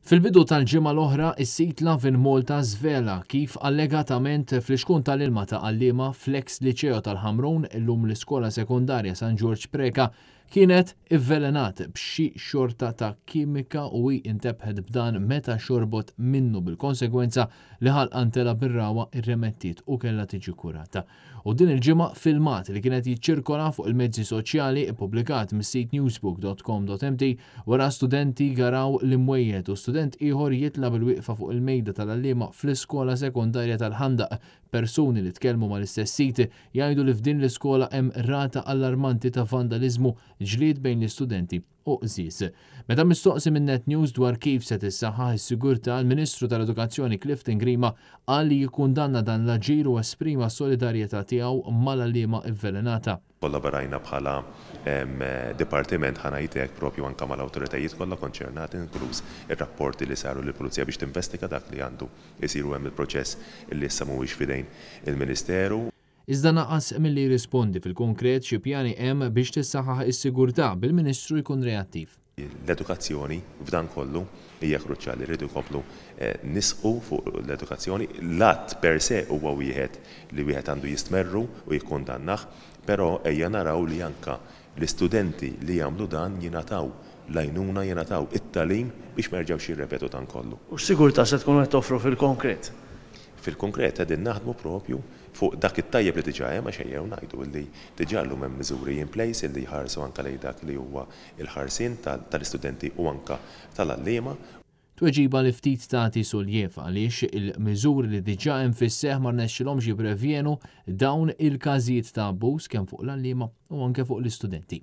Fil-bidu tal-ġimgħa l-oħra, is-sit Lovin Malta żvela kif allegatament flixkun tal-ilma ta' għalliema fl-eks Liċeo tal-Ħamrun, illum l-Iskola Sekondarja San Ġorġ Preca, kienet ivvelenat b'xi xorta ta' kimika u hi intebħet b'dan meta xorbot minnu bil-konsegwenza li ħalqha ntela' bir-ragħwa irremettiet u kellha tiġi kurata. U din il-ġimgħa filmat li kien qed jiċċirkola fuq il-mezzi soċjali ippubblikat mis-sit newsbook.com.mt wara studenti jgaraw l-imwejjed u student ieħor jitla' bil-wieqfa fuq il-mejda tal-għalliema fl-iskola sekondarja tal-Ħandaq. Persuni li tkellmu mal-istess sit jgħidu li f'din l-iskola hemm rata allarmanti ta' vandaliżmu, ġlied bejn l-istudenti u qżież. Meta mistoqsi minn Net News dwar kif se tissaħħaħ is-sigurtà, il-Ministru tal-Edukazzjoni Clifton Grima qal li jikkundanna dan l-aġir u esprima s-solidarjetà tiegħu mal-għalliema vvelenata. Kollaborajna bħala dipartiment, ħa ngħid hekk, propju anke mal-awtoritajiet kollha konċernati, inkluż ir-rapporti li saru lill-Pulizija biex tinvestiga dak li għandu jsir u hemm il-proċess li issa mhuwiex f'idejn il-Ministeru. Iżda naqas milli jirrispondi fil-konkret xi pjani hemm biex tissaħħaħ is-sigurtà, bil-Ministru jkun reattiv. L-edukazzjoni f'dan kollu hija kruċjali, rridu nkomplu nisħqu fuq l-edukazzjoni. L-att per se huwa wieħed li wieħed għandu jistmerru u jikkundannah, però ejja naraw li anke l-istudenti li jagħmlu dan jingħataw l-għajnuna, jingħataw it-tagħlim biex ma jerġgħux jirrepetu dan kollu. U x'sigurtà se tkunu qed toffru fil-konkret? Fil-konkret qegħdin naħdmu propju fuq dak it-tajjeb li diġà hemm għax ejjew ngħidu li diġà llum hemm miżuri in place illi jħarsu anke lejn dak li huwa l-ħarsien tal-istudenti u anke tal-għalliema. Tweġiba li ftit tagħti suljiev għaliex il-miżuri li diġà hemm fis-seħħ ma rnexxilhomx jipprevjenu dawn il-każijiet ta' abbuż kemm fuq l-għalliema u anke fuq l-istudenti.